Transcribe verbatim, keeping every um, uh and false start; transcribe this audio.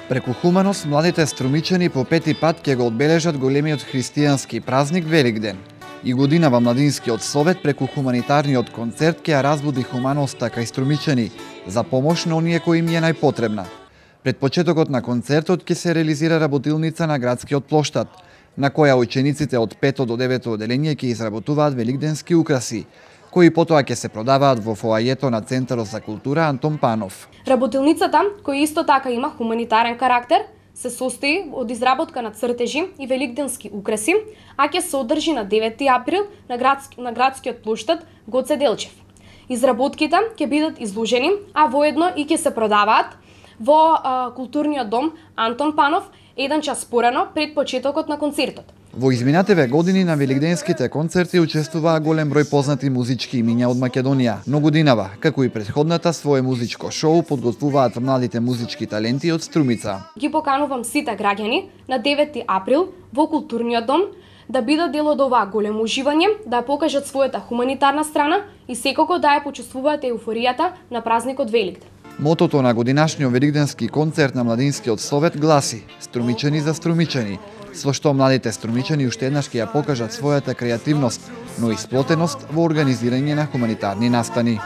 Преку хуманост, младите струмичани по пети пат ќе го одбележат големиот христијански празник Великден. И годинава Младинскиот совет преку хуманитарниот концерт ќе ја разбуди хуманоста кај струмичани за помош на оние кои им е најпотребна. Пред почетокот на концертот ќе се реализира работилница на градскиот плоштад, на која учениците од пето до девето оделение ќе изработуваат великденски украси, кои потоа ќе се продаваат во фоајето на Центарот за култура Антон Панов. Работилницата, која исто така има хуманитарен карактер, се состои од изработка на цртежи и великденски украси, а ќе се одржи на девети април на, градски, на градскиот плоштад Гоце Делчев. Изработките ќе бидат изложени, а воедно и ќе се продаваат во а, културниот дом Антон Панов еден час порано пред почетокот на концертот. Во изминативе години на великденските концерти учествуваа голем број познати музички имиња од Македонија, но годинава, како и претходната, свое музичко шоу подготвуваат младите музички таленти од Струмица. Ги поканувам сите граѓани на девети април во културниот дом да бидат дел од оваа големо уживање, да покажат својата хуманитарна страна и секако да ја почувствуваат еуфоријата на празникот Великден. Мотото на годинашниот великденски концерт на Младинскиот совет гласи "Струмичани за струмичани", со што младите струмичани уште еднаш ќе ја покажат својата креативност, но и сплотеност во организирање на хуманитарни настани.